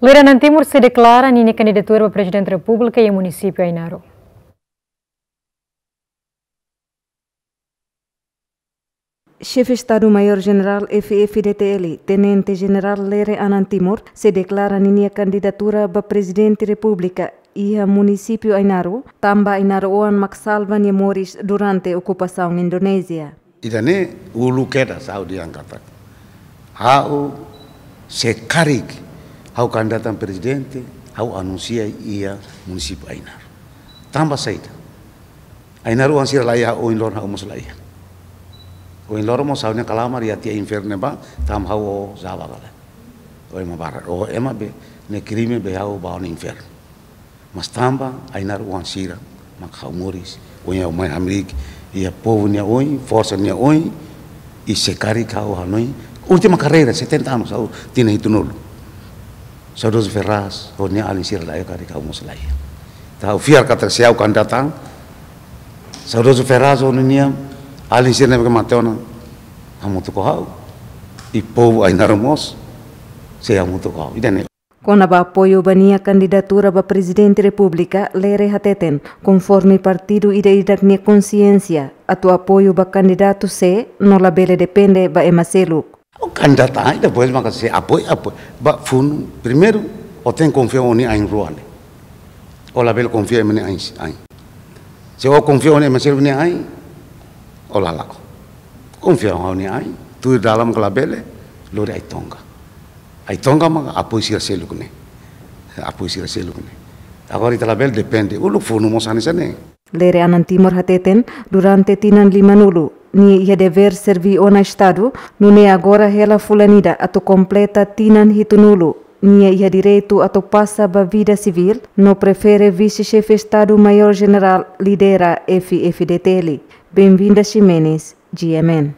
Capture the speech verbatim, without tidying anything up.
Lere Anan Timur sei deklara ninia kandidatura ba Prezidente Repúblika iha munisípiu Ainaro. Xefe Estadu Maiór Jenerál F-FDTL, Tenente Jenerál Lere Anan Timur, sei deklara ninia kandidatura ba Prezidente Repúblika iha munisípiu Ainaro, tanba ainaroan mak salva nia moris durante okupasaun Indonézia. Ida-ne'e uluk kedas ha'u dehan katak, ha'u se karik ha'u kandidata prezidente, ha'u anunsia iha munisípiu Ainaro. Tanba saida? Ainaro oan sira la iha, ohin loron ha'u mós la iha. Ohin loron mós ha'u-nia kalamar iha tiha infernu ne'ebá, tanba ha'u ó zaba kala. Ó ema barak, ó ema be, ne'e krime be ha'u ba ona infernu. Mas tanba Ainaro oan sira mak ha'u moris, ohin ha'u mai hamriik iha povu nia oin, forsa nia oin, i se karik ha'u hanoin, última karreira, setenta anos, ha'u tinan hitunulu. Saudozu Ferraz ho nia alin sira la iha, karik ha'u mós la iha. Entaun ha'u fiar katak se ha'u kandidata an, saudozu Ferraz ho nia alin sira ne'ebé mate ona, hamutuk ho ha'u, i povu Ainaro mós sei hamutuk ho ha'u. Ida-ne'e. Kona-ba apoiu ba nia kandidatura ba Prezidente Repúblika, Lere hateten, konforme partidu ida-idak nia konxiénsia, atu apoiu ba kandidatu sé, no labele depende ba ema seluk. Ó kandidata an, depois maka se apoiu, apoiu. Ba funu, primeiru, ó tenke konfia ó-nia ain-rua ne'e. Ó labele konfia ema nia ain, ain. Se ó konfia ó-nia ema seluk nia ain, ó la la'o. Konfia ó-nia ain, tuir dalan mak labele, lori Ai-Tonga. Ai-Tonga mak apoiu sira seluk ne'e. Apoiu sira seluk ne'e. Agora ita labele depende, uluk funu mós hanesan ne'e. Lere Anan Timur hateten, durante tinan limanulu, nia iha devér serví ona Estadu, nune'e agora hela fulan ida atu kompleta tinan hitunulu, nia iha direitu atu pasa ba vida sivíl, no prefere Vise-Xefe Estadu Maiór Jenerál lidera F-FDTL. Benvinda Ximenes, G M N.